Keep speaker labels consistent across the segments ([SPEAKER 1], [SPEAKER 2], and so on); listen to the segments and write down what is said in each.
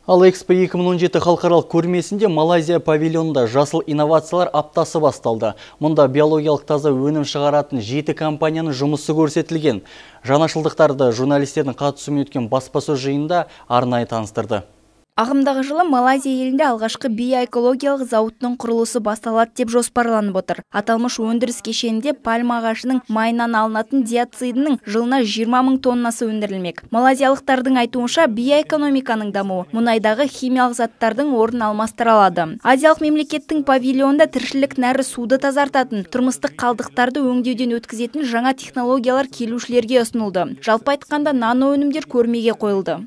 [SPEAKER 1] Ал Экспо 2017 халықаралық көрмесінде Малайзия павильонында жасыл инновациялар аптасы басталды. Мұнда биологиялық таза өнім шығаратын 7 компанияның жұмысы көрсетілген. Жаңашылдықтарды журналистердің қатысуымен өткен баспасөз жиынында арнайы таныстырды.
[SPEAKER 2] Ағымдағы жылы Малайзия елінде алғашқы биоэкологиялық зауыттың құрылысы басталады деп жоспарланып отыр. Аталмыш өндіріс кешенінде пальма ағашының майынан алынатын диоцидінің жылына 20 мың тоннасы өндірілмек. Малайзиялықтардың айтуынша биоэкономиканың дамуы мұнайдағы химиялық заттардың орнын алмастыра алады. Азиялық мемлекеттің павильонында тіршілік нәрі суды тазартатын, тұрмыстық қалдықтарды өңдеуден өткізетін жаңа технологиялар келушілерге ұсынылды. Жалпы айтқанда нано өнімдер көрмеге қойылды.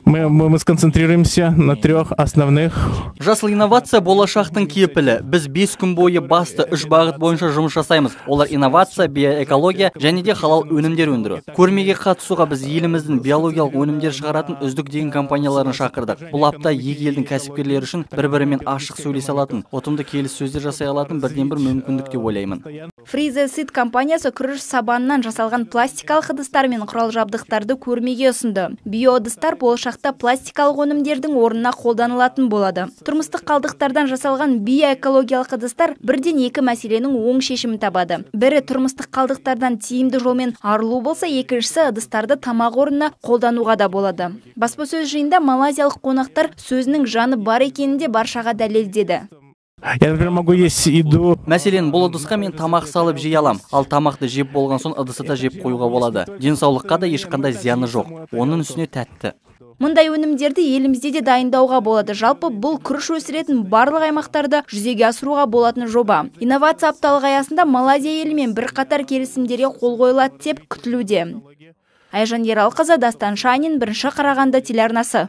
[SPEAKER 3] Мы сконцентрируемся на 3 основных.
[SPEAKER 1] Жасыл инновация болашақтың кепілі. Біз 5 күн бойы басты 3 бағыт бойынша жұмыс жасаймыз. Олар инновация, биоэкология және де халал өнімдер өндіру. Көрмеге қатысуға біз еліміздің биологиялық өнімдер шығаратын үздік деген компанияларын шақырдық. Бұл апта екі елдің кәсіпкерлері үшін бір-бірімен ашық сөйлесе алатын, ұтымды келіссөздер жасай алатын бірден-бір мүмкіндік деп ойлаймын.
[SPEAKER 2] Фризесит компаниясы күріш сабанынан жасалған пластикалық ыдыстар мен құрал жабдықтарды көрмеге ұсынды. Биоыдыстар болашақта пластикалық өнімдердің орнына қолданылатын болады. Тұрмыстық қалдықтардан жасалған биоэкологиялық ыдыстар бірден екі мәселенің оң шешімін табады. Бірі тұрмыстық қалдықтардан тиімді жолмен арылу болса, екіншісі ыдыстарды тамақ орнына қолдануға да болады. Баспасөз жиында малайзиялық қонақтар сөзінің жаны бар екенінде баршаға дәлелдеді.
[SPEAKER 3] Я, например, могу есть еду.
[SPEAKER 1] Мәселен, бұл ыдысқа мен тамақ салып жей алам. Ал тамақты жеп болған соң ыдысты да жеп қоюға болады. Денсаулыққа да ешқандай зияны жоқ. Оның үстіне тәтті.
[SPEAKER 2] Мұндай өнімдерді елімізде де дайындауға болады. Жалпы бұл күріш өсіретін барлық аймақтарда жүзеге асыруға болатын жоба. Инновация апталығы аясында Малайзия елімен бірқатар келісімдерге қол қойылады деп күтілуде. Айжан Ералқызы, Дастан Шанин, 1 Қарағанды телеарнасы.